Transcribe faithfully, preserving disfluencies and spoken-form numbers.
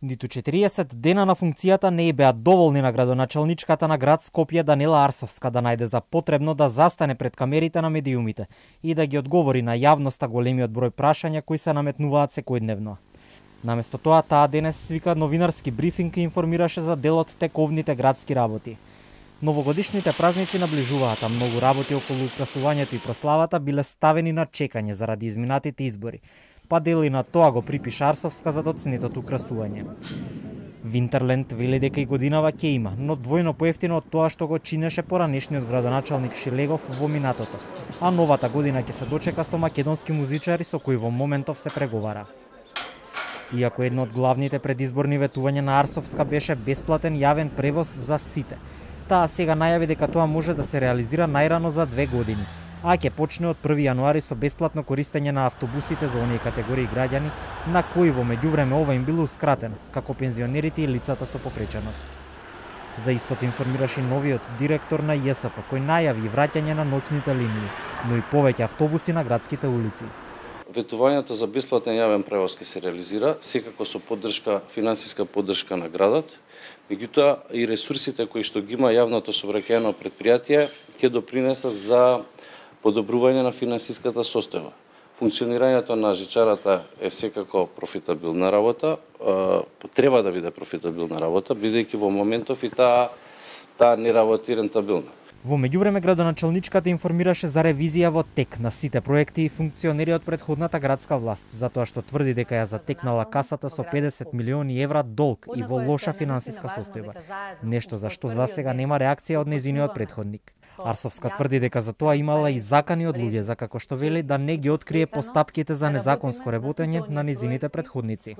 Ниту четириесет дена на функцијата не беа доволни на градоначалничката на град Скопје Данила Арсовска да најде за потребно да застане пред камерите на медиумите и да ги одговори на јавноста големиот број прашања кои се наметнуваат секојдневно. Наместо тоа, таа денес свика новинарски брифинг и информираше за дел од тековните градски работи. Новогодишните празници наближуваат, а многу работи околу украсувањето и прославата биле ставени на чекање заради изминатите избори, па дели на тоа го припиша Арсовска за доцнетото украсување. Винтерленд вели дека и годинава ќе има, но двојно поевтино од тоа што го чинеше поранешниот градоначалник Шилегов во минатото, а новата година ќе се дочека со македонски музичари со кои во моментов се преговара. Иако едно од главните предизборни ветувања на Арсовска беше бесплатен јавен превоз за сите, таа сега најави дека тоа може да се реализира најрано за две години, а ќе почне од први јануари со бесплатно користење на автобусите за оние категории граѓани на кои во меѓувреме ова им билоускратено, како пензионерите и лицата со попреченост. За истото информираше новиот директор на Ј С П, кој најави враќање на ноќните линии, но и повеќе автобуси на градските улици. Ветувањето за бесплатен јавен превоз ќе се реализира, секако со поддршка, финансиска поддршка на градот, меѓутоа и ресурсите кои што ги има јавното сообраќајно предпријатие ќе допринесат за подобрување на финансиската состојба. Функционирањето на жичарата е секако профитабилна работа, треба да биде профитабилна работа, бидејќи во моментов и таа таа не работи рентабилна. Во меѓувреме градоначалничката информираше за ревизија во тек на сите проекти и функционери од претходната градска власт, затоа што тврди дека ја затекнала касата со педесет милиони евра долг и во лоша финансиска состојба, нешто за што засега нема реакција од незиниот претходник. Арсовска тврди дека за тоа имала и закани од луѓе, за како што вели да не ги открие постапките за незаконско работење на незините претходници.